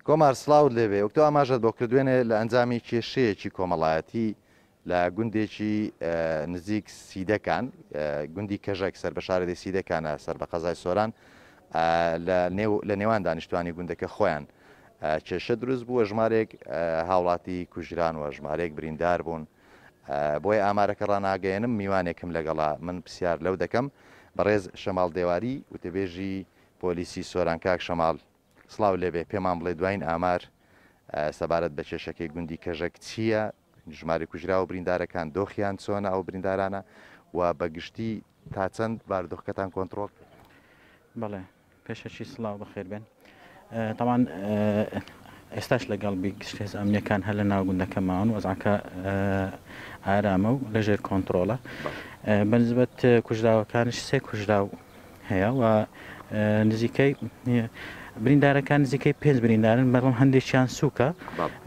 کۆمار سڵاوت لێبێ وەک تۆ ئاماژەت بۆ کرد دوێنێ لە ئەنجامی کێشەیەکی کۆمەڵایەتی لە گوندێکی نزیک سیدەکان گوندی کەژەک سەر بە شارەدێی سیدەکانە سەر بە قەزای سۆران لە نێو لە نێوان دانیشتوانی گوندەکە خۆیان کێشە دروست بووە ژمارێک هاوڵاتی کوژران و ژمارێک بریندار بوون بۆیە ئامارەکە ڕاناگەیەنم میوانێکم لەگەڵا من پرسیار لەو دەکەم بەڕێز شەماڵ دێواری وتەبێژی پۆلیسی سۆران کاک شەماڵ سڵاو لێبێ پێمان بڵێ دواین ئامار سەبارەت بە کێشەکەی گوندی کەژەک چییە؟ ژمارەی کوژراو و بریندارەکان دۆخیان چۆنە ئەو بریندارانە و بە گشتی تا چەند بارودۆخەکەتان کۆنتڕۆڵ کرد؟ بەڵێ پێشەکی سڵاو بەخێر بێن تاوان ئێستاش لەگەڵ بی گشت هێز ئەمنیەکان هەر لە ناو گوندەکە ماون وەزعەکە ئارامە و لەژێر کۆنتترۆڵە بەنسبەت کوژراوەکانش سێ کوژراو هەیە و نزیکەی بریندارەکان نزیکەی پێنج بریندارن بەڵام هەندێکیان سووکە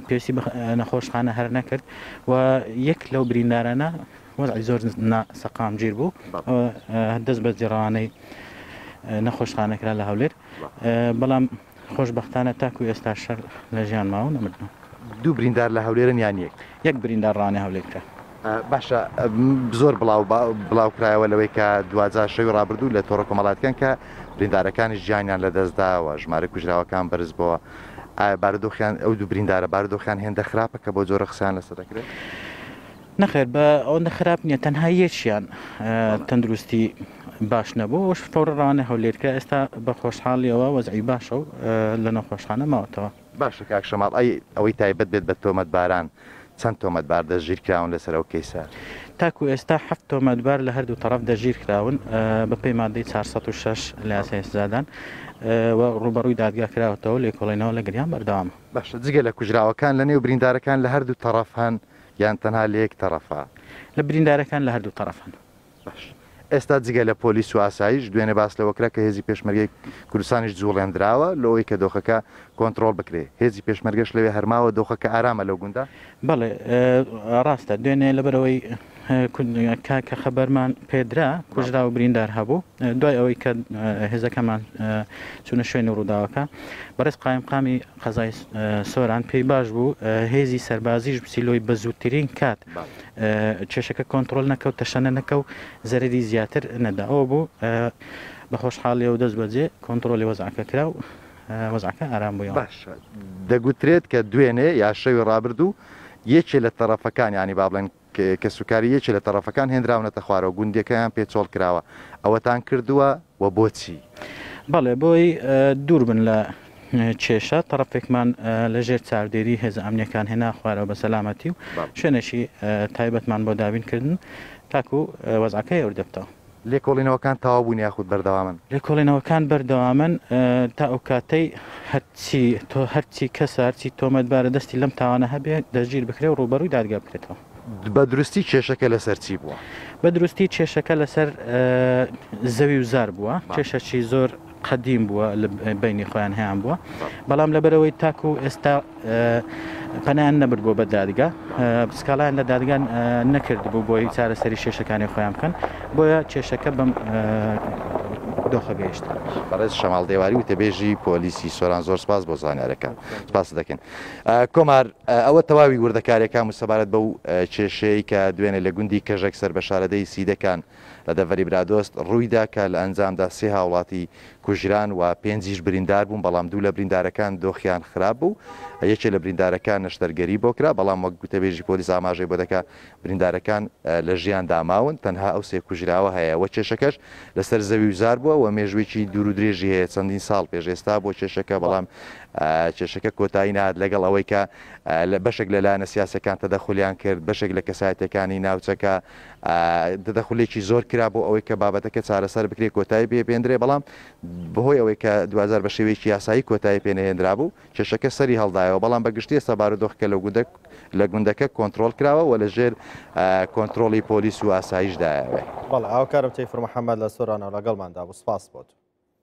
پێویستی بە نەخۆشخانە هەر نەکرد و یەک لەو بریندارانە وەزعی زۆر سەقامگیر بوو دەست بە جێڕانەی نەخۆشخانە کرا لە هەولێر بەڵام خۆشبەختانە تاکو ئێستا شەر لە ژیان ماون نەمردن. دوو بریندار لە هەولێرن یان یەک؟ یەک بریندار ڕانێ هەولێر کرا. باشە زۆر بڵاو بڵاو کرایەوە لەوەی کە دواجار شەوی ڕابردوو لە تۆڕە کۆمەڵاتیەکان کە بریندارەکانیش گیانیان لەدەست داوە ژمارەی کوژراوەکان بەرز بۆوە ئایا بارودۆخیان ئەو دوو بریندارە بارودۆخیان هێندە خراپە کە بۆ جۆرە قسەیان لەسەر دەکرێت؟ نەخێر بە ئەوەندە خراپ نییە تەنها یەکیان تەندروستی باش نەبوو ئەوش فەوڕ ڕەوانەی هەولێر کرا ئێستا بە خۆشحاڵیەوە وەزعی باشە و لە نەخۆشخانە ماوەتەوە. باشە کاک شەماڵ ئەی ئەوەی تایبەت بێت بە تۆمەتباران چەند تۆمەتبار دەستگیرکراون لەسەر ئەو کەیسە؟ تاکو ئێستا حەفت تۆمەتبار لە هەردوو تەڕەف دەستگیرکراون بەپێی مادەی 406 لە یاسای سزادان و ڕووبەڕووی دادگا کراوەتەوە لێکۆڵینەوە لەگەڵیان بەردەوامە. باشە جگە لە کوژراوەکان لەنێو بریندارەکان لە هەردوو تەڕەف هەن یان تەنها لە یەک تەڕەفە؟ لە بریندارەکان لە هەردوو تەڕەف هەن. باش ئێستا جگە لە پۆلیس و ئاسایش، دوێنێ باس لەوە کرا کە هێزی پێشمەرگەی کوردستانیش جوڵێندراوە لۆوەی کە دۆخەکە کۆنتڕۆڵ بکرێ، هێزی پێشمەرگەش لەوێ هەر ماوە، دۆخەکە ئارامە لەو گوندە؟ بەڵێ ڕاستە، دوێنێ لەبەرئەوەی کە خەبەرمان پێدرا کوژراو و بریندار هەبوو، دوای ئەوەی کە هێزەکەمان چوونە شوێنی ڕووداوەکە، بەڕێز قایمقامی قەزای سۆران پێی باش بوو هێزی سەربازیش بچی لۆی بە زووترین کات کێشەکە کۆنتڕۆل نەکە و تەشەنە نەکە و زەرەری زیاتر نەدا ئەوە بوو بە خۆشحاڵیەوە دەست بەجێ کۆنتڕۆلی وەزعەکە کرا و وەزعەکە ئارام بوویەوە. باشە دەگوترێت کە دوێنێ یا شەوی ڕابردوو یەکێ لە تەڕەفەکان یانی با بڵێن کەسوکاری یەکێ لە تەڕەفەکان هێنراونەتە خوارەوە گوندەکەیان پێ چۆڵ کراوە ئەوەتان کردووە و بۆچی؟ بەڵێ بۆی دوور بن لە کێشە، تەڕەفێکمان لە ژێر چاودێری هێزە ئەمنیەکان هێنا خوارەوە بە سەلامەتی و شوێنێکی تایبەتمان بۆ دابین کردن تاکو وەزعەکە هێور دەبتەوە. لێکۆڵینەوەکان تەواو بوون یاخود بەردەوامن؟ لێکۆڵینەوەکان بەردەوامن تا ئەو کاتەی هەرچی هەرچی کەسە هەرچی تۆمەتبارە دەستی لەم تاوانە هەبێ دەستگیر بکرێ و ڕووبەڕووی دادگا بکرێتەوە. بە دروستی کێشەکە لەسەر چی بووە؟ بە دروستی کێشەکە لەسەر زەوی و زار بووە، کێشەکی زۆر قەدیم بووە لە بەینی خۆیان هەیان بووە، بەڵام لەبەرئەوەی تاکو ئێستا پەنایان نەبردبووە بە دادگا، سکاڵایان لە دادگا نەکردبوو بۆی چارەسەری کێشەکانی خۆیان بکەن، بۆیە کێشەکە بەم دۆخە گەیشت. بەڕێز شەماڵ دێواری وتەبێژی پۆلیسی سۆران زۆر سپاس بۆ زانیارەکان. سپاست دەکەین. کۆمار، ئەوە تەواوی وردەکاریەکان بوو سەبارەت بەو کێشەیەی کە دوێنێ لە گوندی کەژەک سەر بە شارەدێی سیدەکان لە دەڤەری برادۆست ڕوویدا کە لە ئەنجامدا سێ هاوڵاتی کوژران و پێنجیش بریندار بوون، بەڵام دوو لە بریندارەکان دۆخیان خراپ بوو، یەکێ لە بریندارەکان نەشتەرگەری بۆ کرا، بەڵام وەک گوتەبێژی پۆلیس ئاماژەی بۆ دەکا بریندارەکان لە ژیاندا ماون، تەنها ئەو سێ کوژراوە هەیە و کێشەکەش لەسەر زەوی و زار بووە و مێژوویەکی دوور و درێژی هەیە، چەندین ساڵ پێش ئێستا بووە کێشەکە، بەڵام کێشەکە کۆتایی نەهات لەگەڵ ئەوەی کە بەشێک لە لایەنە سیاسیەکان تەدەخولیان کرد، بەشێک لە کەسایەتیەکانی ناوچەکە تەدەخولێکی زۆر کرا بۆ ئەوەی کە بابەتەکە چارەسەر بکرێت کۆتایی پێ بێندرێ، بەڵام بەهۆی ئەوەی کە دواجار بە شێوەیەکی یاسایی کۆتایی پێ نەهێنرابوو کێشەکە سەری هەڵدایەوە، بەڵام بە گشتی ئێستا بارودۆخەکە لەو گوندە لە گوندەکە کۆنترۆڵ کراوە و لە ژێر کۆنترۆڵی پۆلیس و ئاسایشدایە. بەڵێ هاوکارم تەیفور محەمەد لە سۆرانەوە لەگەڵماندا بوو، سپاس بۆ تۆ.